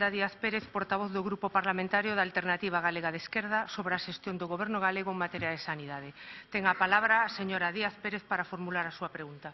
Díaz Pérez, portavoz do Grupo Parlamentario da Alternativa Galega de Esquerda, sobre a xestión do Goberno galego en materia de sanidade. Ten a palabra a señora Díaz Pérez para formular a súa pregunta.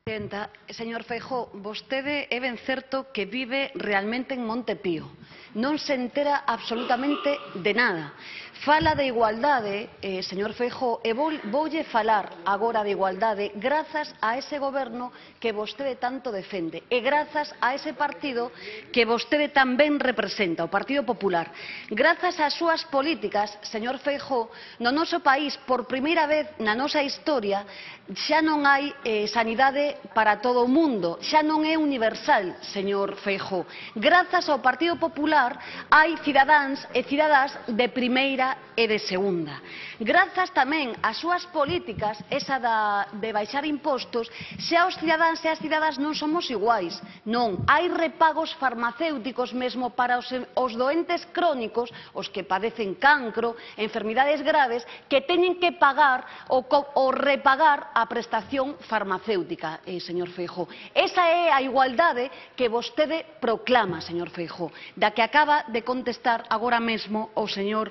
Presidenta, señor Feijóo, vostede é ben certo que vive realmente en Monte Pío. Non se entera absolutamente de nada. Fala de igualdade, señor Feijóo, e voulle falar agora de igualdade grazas a ese goberno que vostede tanto defende e grazas a ese partido que vostede tamén representa, o Partido Popular. Grazas ás súas políticas, señor Feijóo, no noso país, por primeira vez na nosa historia, xa non hai sanidade para todo o mundo, xa non é universal, señor Feijóo. Grazas ao Partido Popular hai cidadáns e cidadás de primeira e de segunda. Grazas tamén ás súas políticas, esa de baixar impostos, xa os cidadáns e as cidadás non somos iguais. Non, hai repagos farmacéuticos mesmo para os doentes crónicos, os que padecen cancro, enfermidades graves, que teñen que pagar ou repagar a prestación farmacéutica, señor Feijóo. Esa é a igualdade que vostede proclama, señor Feijóo, da que acaba de contestar agora mesmo o señor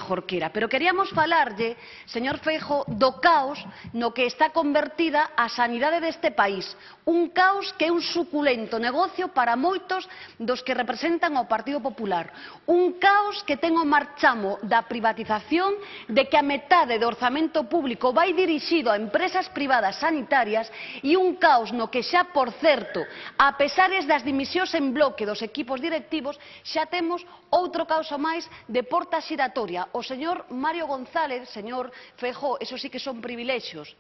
Jorquera. Pero queríamos falarlle, señor Feijóo, do caos no que está convertida a sanidade deste país. Un caos que é un suculento negocio para moitos dos que representan o Partido Popular. Un caos que ten o marchamo da privatización, de que a metade do orzamento público vai dirixido a empresas privadas sanitarias e un caos no que xa, por certo, a pesares das dimisións en bloque dos equipos directivos, xa temos outro caos máis de porta xiratoria. O señor Mario González, señor Feijóo, esos sí que son privilexios,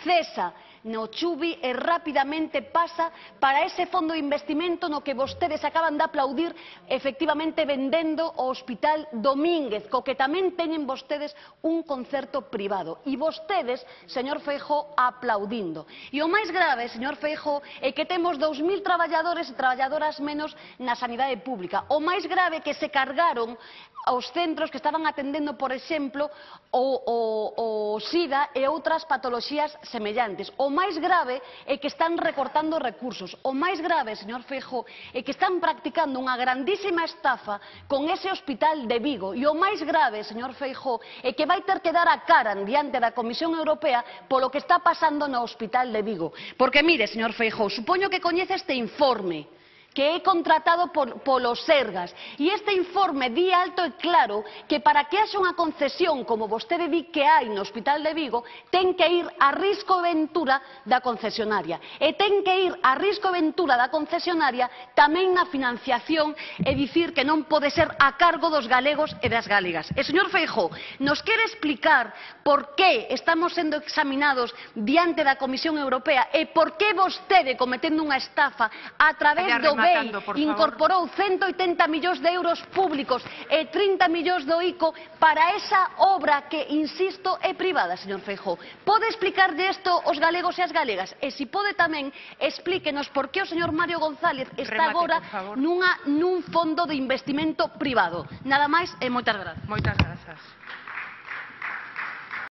cesa no Chubi e rapidamente pasa para ese fondo de investimento no que vostedes acaban de aplaudir, efectivamente vendendo o Hospital Domínguez, co que tamén teñen vostedes un concerto privado. E vostedes, señor Feijóo, aplaudindo. E o máis grave, señor Feijóo, é que temos 2.000 traballadores e traballadoras menos na sanidade pública. O máis grave é que se cargaron aos centros que estaban atendendo, por exemplo, o SIDA e outras patoloxías semellantes. O máis grave é que están recortando recursos. O máis grave, señor Feijóo, é que están practicando unha grandísima estafa con ese Hospital de Vigo. E o máis grave, señor Feijóo, é que vai ter que dar a cara diante da Comisión Europea polo que está pasando no Hospital de Vigo. Porque, mire, señor Feijóo, supoño que coñece este informe que é contratado polos Sergas. E este informe di alto e claro que para que haxa unha concesión, como vostede di que hai no Hospital de Vigo, ten que ir a risco e ventura da concesionaria. E ten que ir a risco e ventura da concesionaria tamén na financiación e dicir que non pode ser a cargo dos galegos e das galegas. E, señor Feijóo, nos quere explicar por que estamos sendo examinados diante da Comisión Europea e por que vostede, cometendo unha estafa a través do BEI, incorporou 180 millóns de euros públicos e 30 millóns do ICO para esa obra que, insisto, é privada, señor Feijóo. Pode explicarlle isto aos galegos e as galegas? E se pode tamén, explíquenos por que o señor Mario González está agora nun fondo de investimento privado. Nada máis e moitas grazas. Moitas grazas.